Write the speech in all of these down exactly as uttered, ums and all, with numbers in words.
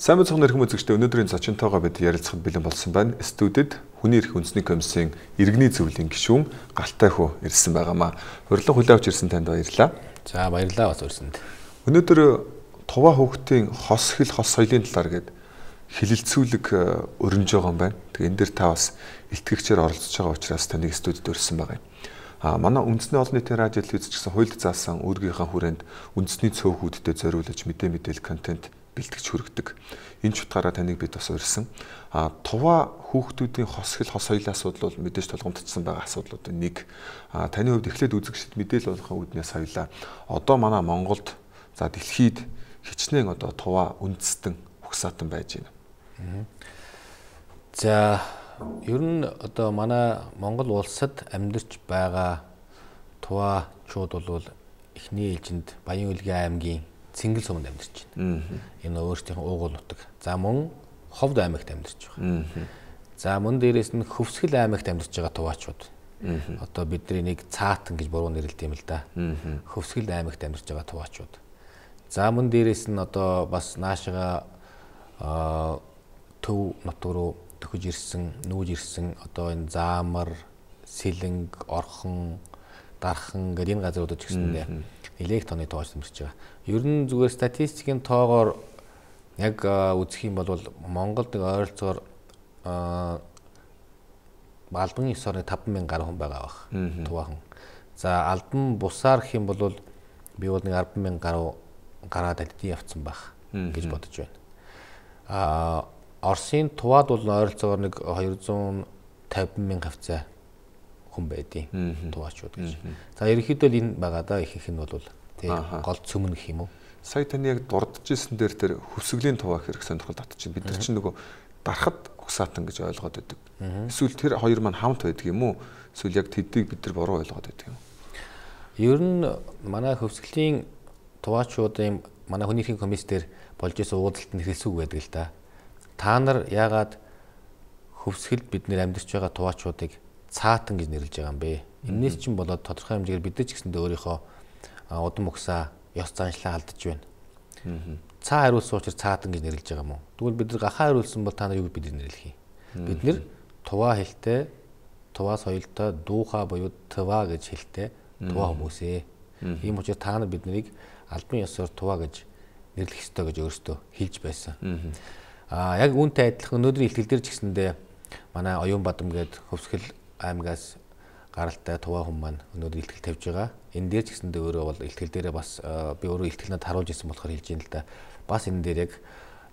Сайн мэцхан нэрхэн үзэгчдээ өнөөдрийн зочинтойгоо бид ярилцахад бэлэн болсон байна. Студид Хүний эрхийн үндэсний комиссийн иргэний зөвлөлийн гишүүн Галтай хүү ирсэн байгаамаа. Урилга хүлээн авч ирсэн танд баярлалаа. За баярлалаа бас урьсанд. Өнөөдөр Туваа хүүхдийн хос хил хос соёлын талаар гээд хилэлцүүлэг өрнөж байгаа юм байна. Тэгээ энэ дээр та бас илтгэгчээр оролцож байгаа учраас таныг студид урьсан байгаа юм. А манай үндэсний олон нийтийн радио телевиз гэсэн хуульд заасан үүргийнхаа хүрээнд үндэсний цөөхүүдэд зориулж мэдээ мэдээлэл контент бэлтгэж хүргэдэг. Энэ ч утгаараа таныг бид бас урьсан. А Туваа хүүхдүүдийн хос хил хос соёлын асуудал бол мэдээж толгомдсон байгаа асуудлуудын нэг. А таны хувьд эхлээд үзэгчд мэдээлэл болгохын үүднээс соёлоо. Одоо манай Монголд за дэлхийд хичнээн одоо Туваа үндэстэн угсаатан байж байна. За ер нь одоо манай Монгол улсад амьдарч байгаа Туваачууд бол эхний ээлжинд Баян-Улгийн аймгийн Цингэл суманд амьдарч байна. Энэ өөрсдийнх уугуул нутаг. За мөн Ховд аймагт амьдарч байгаа. За мөн дээрээс нь Хөвсгөл аймагт амьдарч байгаа Туваачууд. Одоо бидний нэг цаатан гэж буруу нэрлэдэг юм л да. Хөвсгөл аймагт амьдарч байгаа Туваачууд. За мөн дээрээс нь одоо бас наашаага Төв нутаг руу төхөж ирсэн, нүүж ирсэн одоо энэ Заамар, Сэлэнг, Орхон, Дархан гэдэг энэ газруудад ч гэсэндээ нэлээх тооны Туваач амьдарч байгаа. Ер нь зүгээр статистикийн тоогоор яг үзэх юм бол Монголд нэг ойролцоогоор албан ёс орны таван мянган гаруй хүн байгаа бах. Туваахан. За албан бусаар гэх юм бол би бол нэг арван мянган гаруй гараад алидын явцсан байх гэж бодож байна. А Оросын Туваад бол ойролцоогоор нэг хоёрзуун тавин мянган хавцаа хүн байдیں۔ Туваачууд гэж. За ерөнхийдөө л энэ байгаа да их их нь бол тий гол цөмөн гэх юм уу. Сая таны яг дурдж ирсэн дээр тэр Хөвсгөлийн Туваа хэрэг сонирхол татчих. Бид нар чинь нөгөө дарахад угсаатан гэж ойлгоод байдаг. Эсвэл тэр хоёр маань хамт байдаг юм уу? Эсвэл яг тэдийг бид нар буруу ойлгоод байдаг юм уу? Ер нь манай Хөвсгөлийн Туваачуудын манай хүний эрхийн комисс дээр болж исэн уулзалт нь хэлсүүг байдаг л да. Та нар яагаад Хөвсгөлд бид нэр амьдарч байгаа Туваачуудыг цаатан гэж нэрлэж байгаа юм бэ? Энээс чинь болоод тодорхой хэмжээгээр бид нар ч гэсэндээ өөрийнхөө удам угсаа ёс заншлаа алдаж байна. Цаа хариулсан учраас цаатан гэж нэрлэж байгаа юм уу? Тэгвэл бид нар гахаа хариулсан бол та нар юу бид нар нэрлэх юм? Бид нэр Туваа хэлтэй, Туваа соёлтой дуухаа буюу Туваа гэж хэлтэй Туваа хүмүүсээ. Ийм учраас та нар бид нарыг албан ёсоор Туваа гэж нэрлэх ёстой гэж өөрсдөө хэлж байсан. А яг үүнтэй адилхан өнөөдрийн ихтгэл дээр ч гэсэндээ манай Оюун Бадам гээд Хөвсгөл аймгаас гаралтай Туваа хүн маань өнөөдөр ихтгэл тавьж байгаа. Энэ дээр ч гэсэндээ өөрөө бол ихтгэл дээрээ бас би өөрөө ихтгэлнэд харуулж ирсэн болохоор хэлж юм л да. Бас энэ дээр яг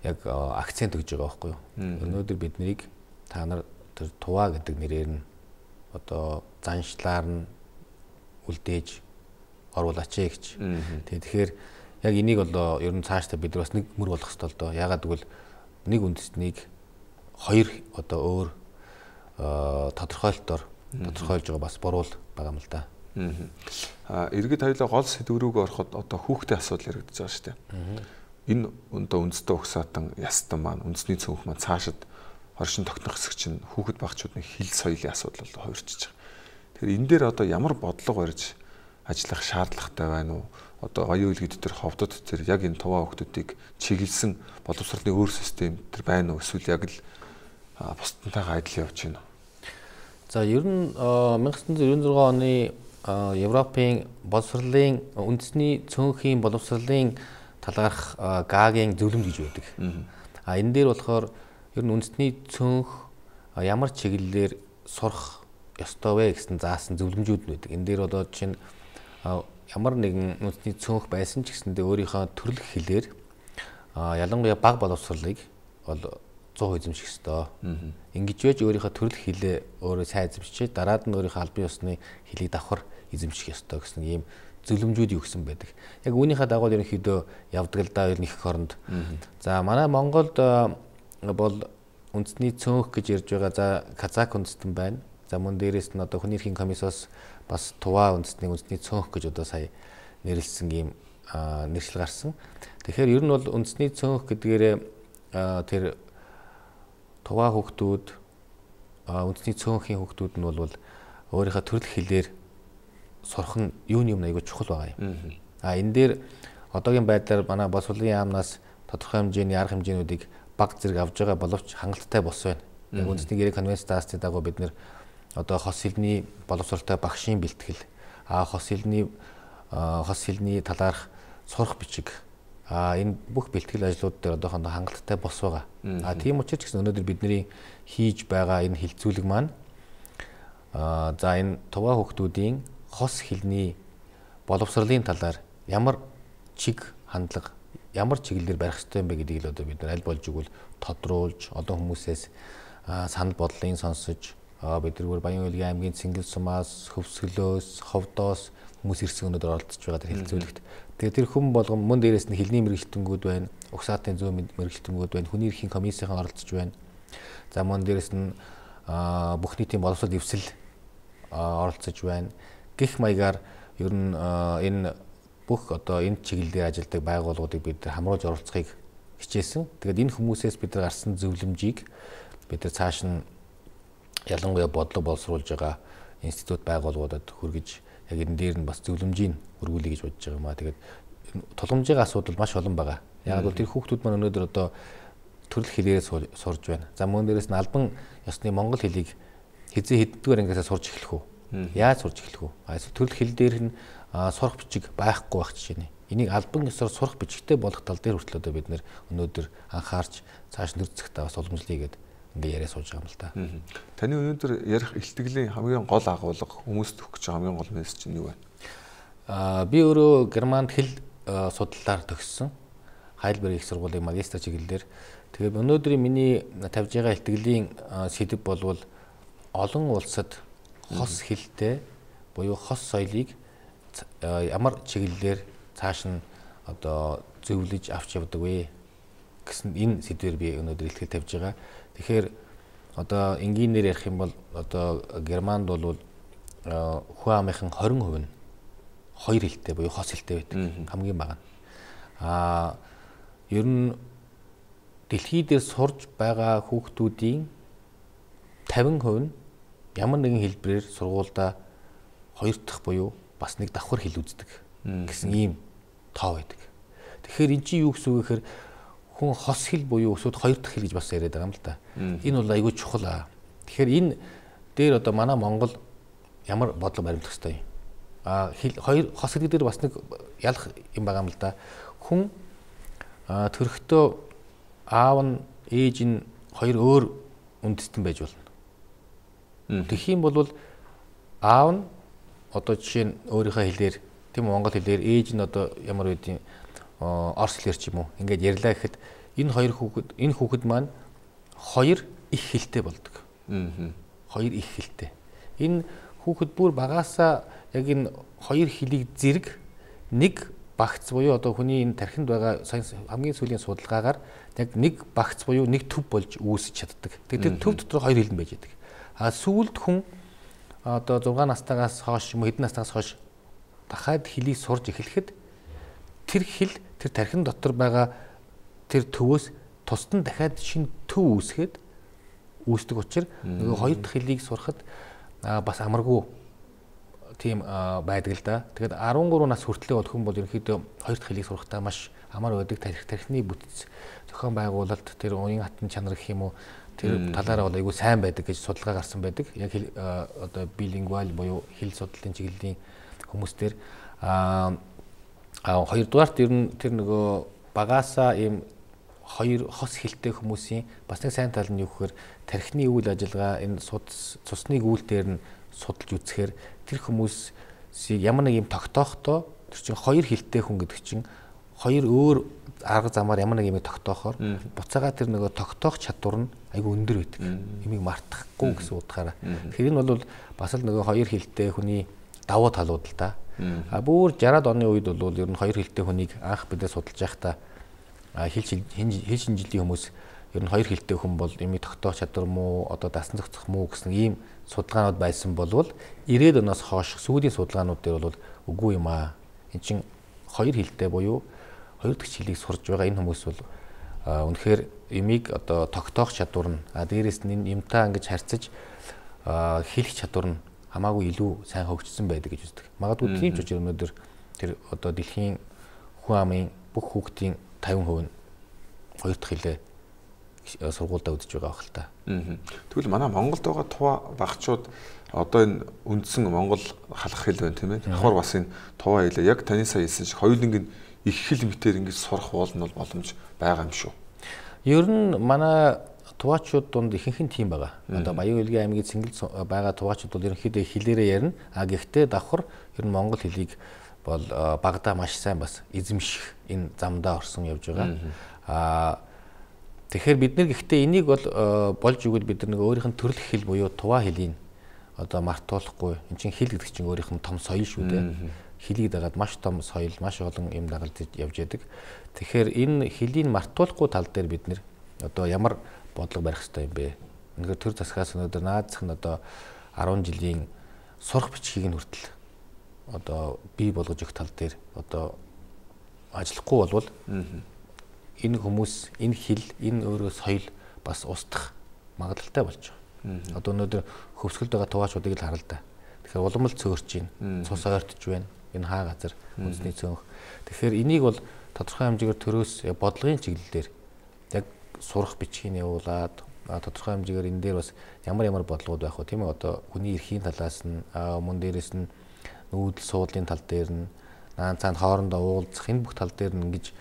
яг акцент өгж байгаа байхгүй юу? Өнөөдөр бид нарыг та нар тэр Туваа гэдэг нэрээр нь одоо заншлаар нь үлдээж оруулаач гэж. Тэгэхээр яг энийг бол ер нь цаашдаа бид бас нэг мөр болох ёстой л доо. Ягаад гэвэл нэг үндэстнийг хоёр одоо өөр тодорхойлолтоор тодорхойлж байгаа бас буруу байгаа юм л да. Аа иргэд хоёлоо гол сэдв рүүгээ ороход одоо хүүхдийн асуудал яригдаж байгаа шүү дээ. Энэ одоо үндэстэн угсаатан ястан маань үндэсний цөөнх маань цаашид хоршин тогтнох хэсэг чинь хүүхэд багчуудын хил соёлын асуудал бол хувирчиж байгаа. Тэгэхээр энэ дээр одоо ямар бодлого барьж ажиллах шаардлагатай байна уу? Одоо оюун үлгэд төр ховдод төр яг энэ Туваа хүүхдүүдийг чиглэсэн боловсролын өөр систем төр байна уу? Эсвэл яг л бусдантайгаа адил явж байна уу? За ер нь 천ix хүн девяносто шесть оны Европын боловсролын үндэсний цөөнхийн боловсролын талаарх Гагийн зөвлөмж гэж байдаг. А энэ дээр болохоор ер нь үндэсний цөөнх ямар чиглэлээр сурах ёстой вэ гэсэн заасан зөвлөмжүүд нь байдаг. Энэ дээр одоо чинь ямар нэгэн үндэсний цөөнх байсан ч гэсэндээ өөрийнхөө төрөлх хэлээр ялангуяа бага боловсролыг бол сто процент эзэмших ёстой. Ингэж байж өөрийнхөө төрөлх хэлээ өөрөө сайн эзэмшиж дараад нь өөрийнхөө албан ёсны хэлийг давхар эзэмших ёстой гэсэн ийм зөвлөмжүүд юу гэсэн байдаг. Яг үүнийхээ дагуу ерөнхийдөө явдаг л да ер нь их хоронд. За манай Монголд бол үндэсний цөөнх гэж ярьж байгаа. За Казак үндэстэн байна. За мөн дээрээс нь одоо хүний эрхийн комиссоос бас Туваа үндэстний үндэсний цөөнх гэж одоо сая нэрлсэн ийм нэршил гарсан. Тэгэхээр ер нь бол үндэсний цөөнх гэдгээрээ тэр Туваа хүүхдүүд үндэсний цөөнхийн хүүхдүүд нь бол өөрийнхөө төрөл хэлээр сурах нь юуны юм айгүй чухал байгаа юм. А энэ дээр одоогийн байдлаар манай боловсролын яамнаас тодорхой хэмжээний арга хэмжээнүүдийг баг зэрэг авж байгаа боловч хангалттай бос байна. Яг үндэсний гэрээ конвенц даасны дагуу бид нэр одоо хос хэлний боловсролтой багшийн бэлтгэл, а хос хэлний хос хэлний талаарх сурах бичиг, а энэ бүх бэлтгэл ажлууд дээр одоохондоо хангалттай бос байгаа. А тийм учраас ч гэсэн өнөөдөр бидний хийж байгаа энэ хилцүүлэг маань а за энэ туваа хүүхдүүдийн хос хэлний боловсролын талаар ямар чиг хандлага, ямар чиглэлээр барих ёстой юм бэ гэдгийг л одоо бид нар аль болж игэл тодруулж олон хүмүүсээс санал бодлын сонсож бид нар Баян-Улгийн аймгийн Цингэл сумаас, Хөвсгөлөөс, Ховдоос хүмүүс ирсэн өнөдөр оролцож байгаа тэр хилцүүлэгт. Тэгээд тэр хүн болгон мөн дээрээс нь хэлний мэрэгчлэнгүүд байна, угсаатын зүүн мэрэгчлэнгүүд байна, хүний эрхийн комиссийн оролцож байна. За мөн дээрээс нь бүх нийтийн боловсрол дэвсэл оролцож байна. Гэх маягаар ер нь энэ бүх одоо энэ чиглэлээр ажилладаг байгууллагуудыг бид хамруулж оролцохыг хичээсэн. Тэгээд энэ хүмүүсээс бид нар гарсан зөвлөмжийг бид нар цааш нь ялангуяа бодлого боловсруулж байгаа институт байгууллагуудад хүргэж яг энэ дээр нь бас зөвлөмжийг өргүүлэе гэж бодож байгаа юм аа. Тэгээд тулгамжийн асуудал маш олон байгаа. Яг бол тэр хүүхдүүд маань өнөөдөр одоо төрөл хэлээрээ сурж байна. За мөн дээрээс нь албан ёсны монгол хэлийг хизээ хэддгээр ангиасаа сурж эхлэх үү? Яаж сурж эхлэх үү? Эсвэл төрөл хэл дээр нь сурах бичиг байхгүй байх жишээ нэ. Энийг албан ёсоор сурах бичигтэй болох тал дээр хүртэл одоо бид нэр өнөөдөр анхаарч цааш нэрцэхтэй бас уламжлая гэдэг ингээ яриа сууж байгаа юм л та. Таны өнөөдөр ярих илтгэлийн хамгийн гол агуулга хүмүүст өгөх гэж хамгийн гол мессеж нь юу вэ? Аа би өөрөө Германд хэл судлалаар төгссөн. Heidelberg их сургуулийн магистр чиглэлээр. Тэгээд өнөөдрийн миний тавьж байгаа илтгэлийн сэдэв болвол олон улсад хос хэлтэй буюу хос соёлыг ямар чиглэлээр цааш нь одоо зөвлөж авч явдаг вэ гэсэн энэ сэдвээр би өнөөдөр илтгэл тавьж байгаа. Тэгэхээр одоо энгийнээр ярих юм бол одоо Германд бол хүн амынхан хорин хувь нь хоёр хэлтэй буюу хос хэлтэй байдаг. Хамгийн бага. Аа ер нь дэлхий дээр сурж байгаа хүүхдүүдийн тавин хувь нь ямар нэгэн хэлбэрээр сургуульдаа хоёр дахь буюу бас нэг давхар хэл үздэг гэсэн ийм тоо байдаг. Тэгэхээр эн чинь юу гэсэн үг гэхээр хүн хос хэл буюу өсөд хоёр дахь хэл гэж бас яриад байгаа юм л да. Энэ бол айгүй чухал аа. Тэгэхээр энэ дээр одоо манай Монгол ямар бодлого баримтлах ёстой юм. Аа хэл хоёр хос хэл дээр бас нэг ялах юм байгаа юм л да. Хүн төрөхдөө аав нь ээж нь хоёр өөр үндэстэн байж болно. Тэгэх юм бол аав нь одоо жишээ нь өөрийнхөө хэлээр тийм монгол хэлээр ээж нь одоо ямар үеийн орс хэлээр ч юм уу ингээд ярьлаа гэхэд энэ хоёр хүүхэд энэ хүүхэд маань хоёр их хэлтэй болдог. Хоёр их хэлтэй. Энэ хүүхэд бүр багаасаа яг энэ хоёр хэлийг зэрэг нэг багц буюу одоо хүний энэ тархинд байгаа хамгийн сүүлийн судалгаагаар яг нэг багц буюу нэг төв болж үүсэж чаддаг. Тэгэхээр тэр төв дотор хоёр хэл нь байж байдаг. А сүүлд хүн одоо зургаан настайгаас хойш юм уу хэдэн настайгаас хойш дахиад хэлийг сурж эхлэхэд тэр хэл тэр тархин дотор байгаа тэр төвөөс тусад нь дахиад шинэ төв үүсгээд үүсдэг учраас нөгөө хоёр дахь хэлийг сурахад бас амаргүй тийм байдаг л да. Тэгэхээр арван гурван нас хүртлээр бол хүн бол ерөнхийдөө хоёр дахь хэлийг сурахтаа маш амар байдаг. Тарих тархины бүтц зохион байгуулалт тэр уян хатан чанар гэх юм уу тэр талаараа бол айгүй сайн байдаг гэж судалгаа гарсан байдаг. Яг одоо билингвал буюу хэл судлалын чиглэлийн хүмүүстэр а хоёрдугаарт ер нь тэр нөгөө багаасаа ийм хоёр хос хэлтэй хүмүүсийн бас нэг сайн тал нь юу гэхээр тархины үйл ажиллагаа энэ цусны гүйл дээр нь судалж үзэхээр тэр хүмүүсийг ямар нэг юм тогтоохдоо тэр чинь хоёр хэлтэй хүн гэдэг чинь хоёр өөр арга замаар ямар нэг юм тогтоохоор буцаага тэр нөгөө тогтоох чадвар нь айгүй өндөр байдаг. Имийг мартахгүй гэсэн утгаараа. Тэгэхээр энэ бол бас л нөгөө хоёр хэлтэй хүний давуу талууд л да. А бүр жараад оны үед бол ер нь хоёр хэлтэй хүнийг анх бидээ судалж байхдаа хэл хэл шинжилгээ хүмүүс ер нь хоёр хэлтэй хүн бол имийг тогтоох чадвар муу одоо дасан зохицох муу гэсэн ийм судалгаанууд байсан болвол ирээд оноос хойш сүүлийн судалгаанууд дээр бол үгүй юм аа. Энд чинь хоёр хэлтэй буюу хоёр дахь хэлийг сурж байгаа энэ хүмүүс бол үнэхээр имийг одоо тогтоох чадвар нь а дээрээс нь энэ юмтаа ингэж харьцаж хэлэх чадвар нь хамаагүй илүү сайн хөгжсөн байдаг гэж үздэг. Магадгүй тийм ч учраас өнөөдөр тэр одоо дэлхийн хүн амын бүх хүүхдийн тавин хувь нь хоёр дахь хэлээ сургуультай үдэж байгаа байх л та. Тэгвэл манай Монголд байгаа тува багчууд одоо энэ үндсэн Монгол халах хэл байна тийм ээ. Давхар бас энэ тува хэлээ яг таны сая хэлсэн шиг хоёуланг нь их хэл мэтээр ингэж сурах бол нь боломж байгаа юм шүү. Ер нь манай туваачууд донд ихэнх нь тийм байгаа. Одоо Баян Хөлгийн аймгийн Цэнгэл байгаа туваачууд бол ерөнхийдөө хэлээрээ ярина. А гэхдээ давхар ер нь монгол хэлийг бол багада маш сайн бас эзэмших энэ замдаа орсон явж байгаа. А тэгэхээр бид нар гэхдээ энийг бол болж өгвөл бид нар нэг өөрийнх нь төрөлх хэл буюу тува хэлийг одоо мартуулахгүй. Энд чинь хэл гэдэг чинь өөрийнх нь том соёл шүү дээ. Хэлийг дагаад маш том соёл, маш олон юм дагалдаж явж яадаг. Тэгэхээр энэ хэлийг мартуулахгүй тал дээр бид нэр одоо ямар бодлого барих хэрэгтэй юм бэ? Үнэхээр төр засгаас өнөөдөр наадзах нь одоо арван жилийн сурах бичгийг нь хүртэл одоо бий болгож өгөх тал дээр одоо ажиллахгүй болвол энэ хүмүүс, энэ хэл, энэ өөрөө соёл бас устдах магадлалтай болж байгаа. Одоо өнөөдөр хөвсгөлд байгаа туваачуудыг л хараа л да. Тэгэхээр улам л цөөрч байна, цус ойртож байна. Энэ хаа газар үндэсний цөөнх. Тэгэхээр энийг бол тодорхой хэмжээгээр төрөөс бодлогын чиглэлээр яг сурах бичгийг явуулаад тодорхой хэмжээгээр энэ дээр бас ямар ямар бодлогод байх вэ тийм ээ? Одоо хүний эрхийн талаас нь мөн дээрээс нь нүүдэл суудлын тал дээр нь наан цаанд хоорондоо уулзах энэ бүх тал дээр нь ингэж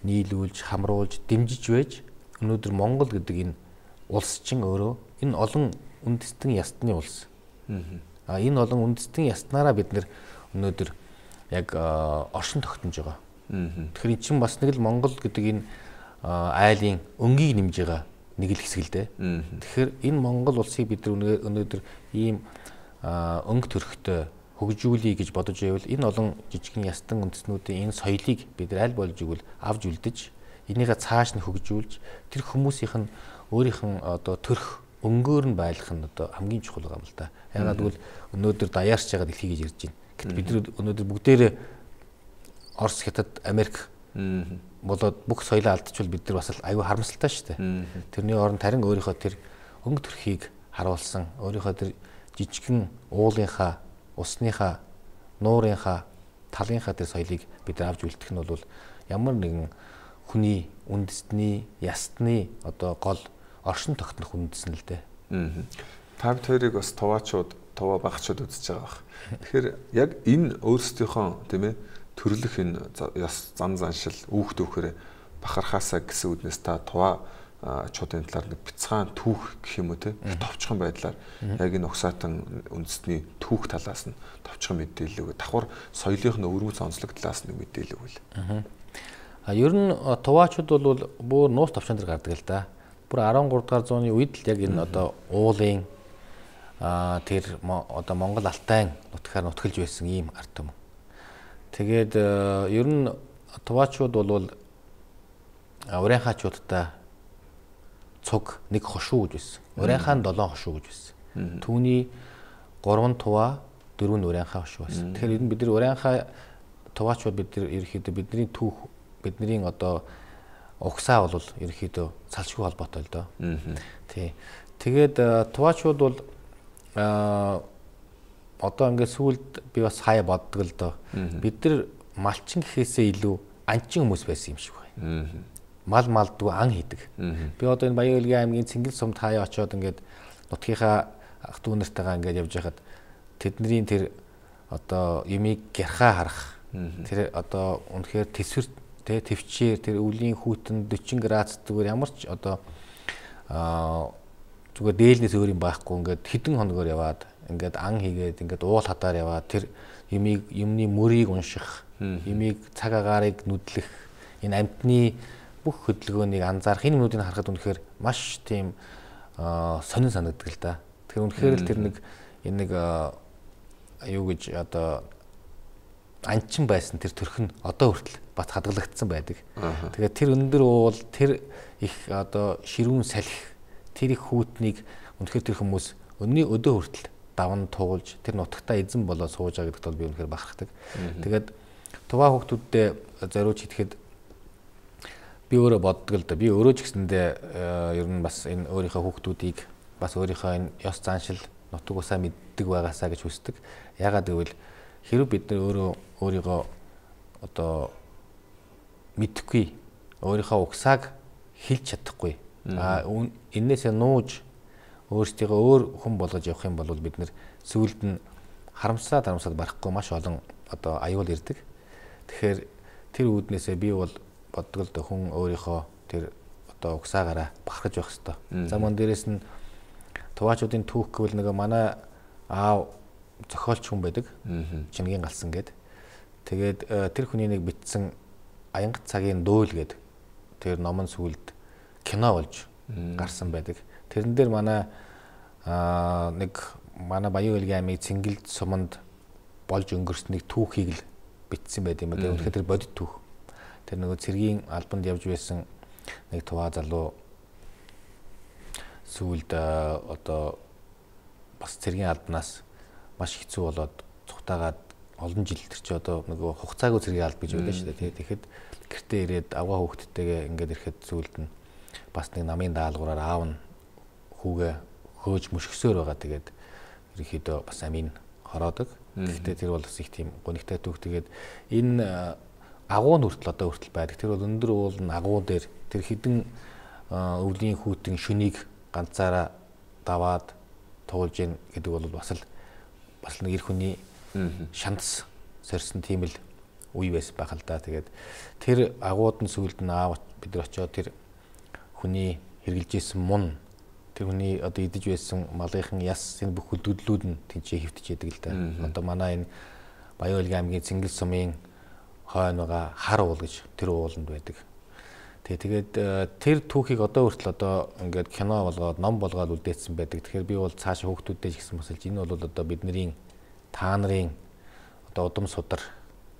нийлүүлж, хамруулж, дэмжиж байж өнөөдөр Монгол гэдэг энэ улс чинь өөрөө энэ олон үндэстэн ястны улс. А энэ олон үндэстэн яснараа бид нэр өнөөдөр яг оршин тогтнож байгаа. Тэгэхээр эн чинь бас нэг л Монгол гэдэг энэ айлын өнгийг нэмж байгаа нэг л хэсэг л дээ. Тэгэхээр энэ Монгол улсыг бид өнөөдөр ийм өнгө төрхтэй хөгжүүлэе гэж бодож байвал энэ олон жижигхэн ястан үндэстнүүдийн энэ соёлыг бид аль болж игэл авж үлдэж энийгээ цааш нь хөгжүүлж тэр хүмүүсийнх нь өөрийнх нь одоо төрх өнгөөр нь байлгах нь одоо хамгийн чухал юм л да. Ягаад гэвэл өнөөдөр даяарч байгаа дэлхий гэж ярьж байна. Гэтэл бид өнөөдөр бүгдээрээ Орос, Хятад, Америк болоод бүх соёлоо алдчихвал бид нар бас аюу харамсалтай шүү дээ. Тэрний оронд харин өөрийнхөө тэр өнгө төрхийг харуулсан, өөрийнхөө тэр жижигхэн уулынхаа, усныхаа, нуурынхаа, талынхаа тэр соёлыг бид авч үлдэх нь бол ямар нэгэн хүний үндэстний, ястны одоо гол оршин тогтнох үндэс нь л дээ. Та бид хоёрыг бас туваачууд, тува багчууд үзэж байгаа бах. Тэгэхээр яг энэ өөрсдийнхөө тийм ээ төрлөх энэ яс зам заншил үүх төвхөр бахархаасаа гэсэн үднээс та тува чуудын талаар нэг бяцхан түүх гэх юм уу те товчхон байдлаар яг энэ угсаатан үндэсний түүх талаас нь товчхон мэдээлэл өгөө давхар соёлынх нь өвөрмөц онцлог талаас нь мэдээлэл өгвөл. А ер нь туваачууд бол бүр нуус товчон дээр гардаг л да. Бүр арван гурав дахь зууны үед л яг энэ одоо уулын а тэр одоо Монгол Алтай нутгаар нутгалж байсан ийм ард түмэн. Тэгээд ер нь туваачууд бол уран хаачуудтай цуг нэг хошуу гэж байсан. Уран хаан долоон хошуу гэж байсан. Түүний гурван тува, дөрвөн уран хаа хошуу байсан. Тэгэхээр ер нь бид нар уран хаа туваачууд бид нар ерөөхдөө бидний түүх, бидний одоо угсаа бол ерөөхдөө салшгүй холбоотой л доо. Тий. Тэгээд туваачууд бол а одоо ингээд сүүлд би бас хаяа боддог л доо. Бид нар малчин гэхээсээ илүү анчин хүмүүс байсан юм шиг байна. Мал малдгүй ан хийдэг. Би одоо энэ Баян Хөлгийн аймгийн Цэнгэл сумд хаяа очиод ингээд нутгийнхаа ах дүү нартайгаа ингээд явж байхад тэдний тэр одоо юмыг гярхаа харах. Тэр одоо үнэхээр тэсвэр тэ төвчээр тэр өвлийн хүүтэн forty градус зүгээр ямар ч одоо аа зүгээр дээлнээс өөр юм байхгүй ингээд хідэн хоногор яваад ингээд ан хийгээд ингээд уул хадаар яваад тэр юмыг юмны мөрийг унших, юмыг цаг агаарыг нүдлэх, энэ амьтны бүх хөдөлгөөнийг анзаарах энэ юмнуудыг харахад үнэхээр маш тийм сонин санагддаг л да. Тэгэхээр үнэхээр л тэр нэг энэ нэг юу гэж одоо анчин байсан тэр төрх нь одоо хүртэл бат хадгалагдсан байдаг. Тэгээд тэр өндөр уул тэр их одоо ширүүн салхи тэр их хүүтнийг үнэхээр тэр хүмүүс өнний өдөө хүртэл даван туулж тэр нутагтаа эзэн болоод сууж байгаа гэдэгт бол би үнэхээр бахархдаг. Тэгээд туваа хүүхдүүдтэй зориуж хийхэд би өөрөө боддог л да. Би өөрөө ч гэсэндээ ер нь бас энэ өөрийнхөө хүүхдүүдийг бас өөрийнхөө энэ ёс заншил нутаг усаа мэддэг байгаасаа гэж хүсдэг. Ягаад гэвэл хэрэг бид нар өөрөө өөрийгөө одоо мэдхгүй өөрийнхөө угсааг хэлж чадахгүй А энээсээ нууж өөрсдийгөө өөр хүн болгож явах юм бол бид нэр сүүлд нь харамсаад харамсаад барахгүй маш олон одоо аюул ирдэг. Тэгэхээр тэр үүднээсээ би бол боддог л хүн өөрийнхөө тэр одоо угсаагаараа бахархаж байх хэрэгтэй. За мөн дээрэс нь Туваачуудын түүх гэвэл нэг манай аав зохиолч хүн байдаг. Чингийн галсан гээд. Тэгээд тэр хүний нэг бичсэн Аянга цагийн дуул гээд тэр номон сүлд кино болж гарсан байдаг. Тэрэн дээр манай нэг манай Баян Улгийн аймгийн Цэнгэлд суманд болж өнгөрснийг түүхийг л бичсэн байт юм байна. Тэгэхээр тэр бодит түүх. Тэр нөгөө цэргийн албанд явж байсан нэг Туваа залуу сүүлд одоо бас цэргийн албанаас маш хэцүү болоод цухтаагаад олон жил тэр чи одоо нөгөө хугацаагүй цэргийн алба гэж байдаг шүү дээ. Тэгэхэд гэртээ ирээд аваа хүүхдтэйгээ ингээд ирэхэд сүүлд нь бас нэг намын даалгавраар аав нь хүүгээ хөөж мөшгсөөр байгаа. Тэгээд ерөнхийдөө бас амийн хороодог. Гэхдээ тэр бол бас их тийм гонигтай түүх. Тэгээд энэ агуу нь хүртэл одоо хүртэл байдаг. Тэр бол өндөр уулын агуу дээр тэр хідэн өвлийн хүүтэн шөнийг ганцаараа даваад туулж ийн гэдэг бол бас л бас нэг эр хүний шанс сорьсон тийм л үе байсан байх л да. Тэгээд тэр агууд нь сүүлд нь аав бид нар очиод тэр хүний хэрглэжсэн мун тэр хүний одоо идэж байсан малынхан яс энэ бүх хөдөлгөдлүүд нь тэнцээ хөвтөж яадаг л да. Одоо манай энэ Баян Улгийн аймгийн Цэнгэл сумын хойно байгаа хар уул гэж тэр ууланд байдаг. Тэгээд тэр түүхийг одоо хүртэл одоо ингээд кино болгоод ном болгоод үлдээсэн байдаг. Тэгэхээр би бол цаашаа хүүхдүүдтэй ч гэсэн басалж энэ бол одоо бидний та нарын одоо удам судар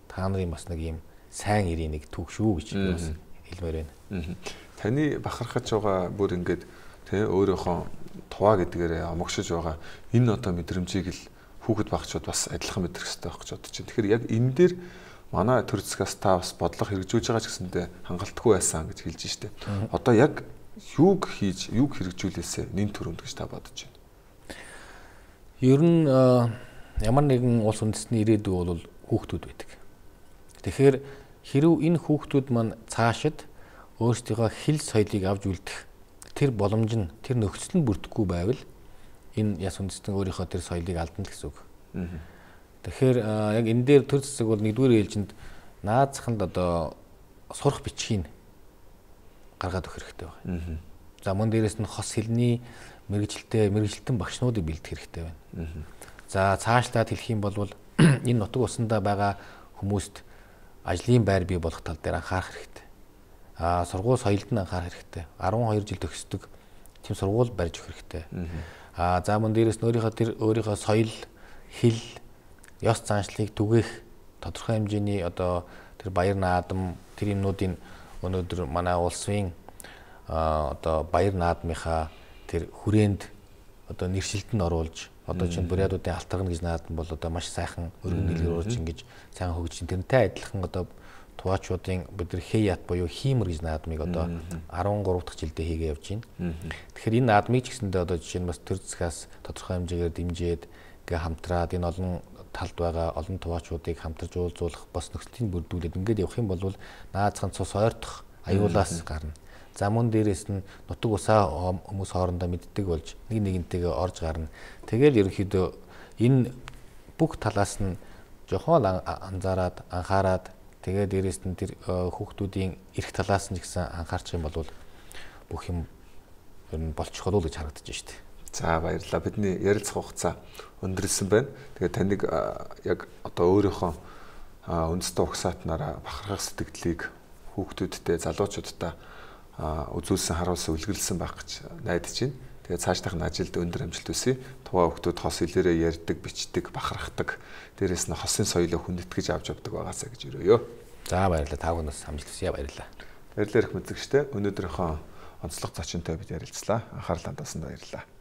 та нарын бас нэг юм сайн ирийн нэг түүх шүү гэж би бас хэлмээр байна. Таны бахархаж байгаа бүр ингээд тэ өөрийнхөө Туваа гэдгээрээ омогшиж байгаа энэ одоо мэдрэмжийг л хүүхэд багчууд бас адилхан мэдрэх хэрэгтэй байх гэж бодож байна. Тэгэхээр яг энэ дээр манай төр засгаас та бас бодлого хэрэгжүүлж байгаа ч гэсэндээ хангалтгүй байсан гэж хэлж штэ. Одоо яг юуг хийж, юуг хэрэгжүүлээсэ нэн төрөнд гэж та бодож байна. Ер нь ямар нэгэн улс үндэстний ирээдүй бол хүүхдүүд байдаг. Тэгэхээр хэрв энэ хүүхдүүд маань цаашид өөрсдийнхөө хэл соёлыг авч үлдэх тэр боломж нь тэр нөхцөл нь бүрдэхгүй байвал энэ яс үндэстэн өөрийнхөө тэр соёлыг алдна л гэсэн үг. Тэгэхээр яг энэ дээр төр засаг бол нэгдүгээр ээлжинд наазаханд одоо сурах бичгийг гаргаад өгөх хэрэгтэй байна. За мөн дээрэс нь хос хэлний мэрэгжилтэй мэрэгжилтэн багшнуудыг бэлдэх хэрэгтэй байна. За цаашлаад хэлэх юм бол энэ нутаг усандаа байгаа хүмүүст ажлын байр бий болох тал дээр анхаарах хэрэгтэй. Аа сургууль соёлд нь анхаарах хэрэгтэй. арван хоёр жил төгсдөг тийм сургууль барьж өгөх хэрэгтэй. Аа за мөн дээрэс нь өөрийнхөө тэр өөрийнхөө соёл, хэл, ёс заншлыг түгээх тодорхой хэмжээний одоо тэр баяр наадам тэр юмнуудын өнөөдөр манай улсын одоо баяр наадмынхаа тэр хүрээнд одоо нэршилтэнд оруулж одоо чинь бурядуудын алтаргана гэж наадам бол одоо маш сайхан өргөн дэлгэр уурж ингэж сайн хөгжиж тэрнтэй адилхан одоо Туваачуудын бид нар Хэят буюу Хиймэр гэж наадмыг одоо арван гурав дахь жилдээ хийгээ явж байна. Тэгэхээр энэ наадмыг ч гэсэндээ одоо жишээ нь бас төр засгаас тодорхой хэмжээгээр дэмжиж гээ хамтраад энэ олон талд байгаа олон Туваачуудыг хамтарч уулзуулах бас нөхцөлийг бүрдүүлээд ингээд явах юм бол наазхан цус ойртох аюулаас гарна. За мөн дээрээс нь нутаг усаа хүмүүс хоорондоо мэддэг болж нэг нэгнтэйгээ орж гарна. Тэгэл ерөнхийдөө энэ бүх талаас нь жохон анзаараад анхаарад тэгээ дээрээс нь тэр хүүхдүүдийн эрх талаас нь гэсэн анхаарчих юм бол бүх юм ер нь болчих болов уу гэж харагдаж байна шүү дээ. За баярлалаа. Бидний ярилцах хугацаа өндөрлсөн байна. Тэгээд таныг яг одоо өөрийнхөө үндэстэй угсаатнараа бахархах сэтгэлийг хүүхдүүдтэй, залуучуудтай үзүүлсэн, харуулсан, үлгэлсэн байх гэж найдаж байна. Тэгээд цаашдах нь ажилд өндөр амжилт хүсье. Туваа хүүхдүүд хос хэлээрээ ярьдаг, бичдэг, бахархдаг. Дээрээс нь хосын соёлыг хүндэтгэж авч явдаг байгаасаа гэж өрөөё. За баярлалаа. Та бүхнээс амжилт хүсье. Баярлалаа. Баярлалаа их мэдзэгчтэй. Өнөөдрийнхөө онцлог зочинтой бид ярилцлаа. Анхаарал хандуулсанд баярлалаа.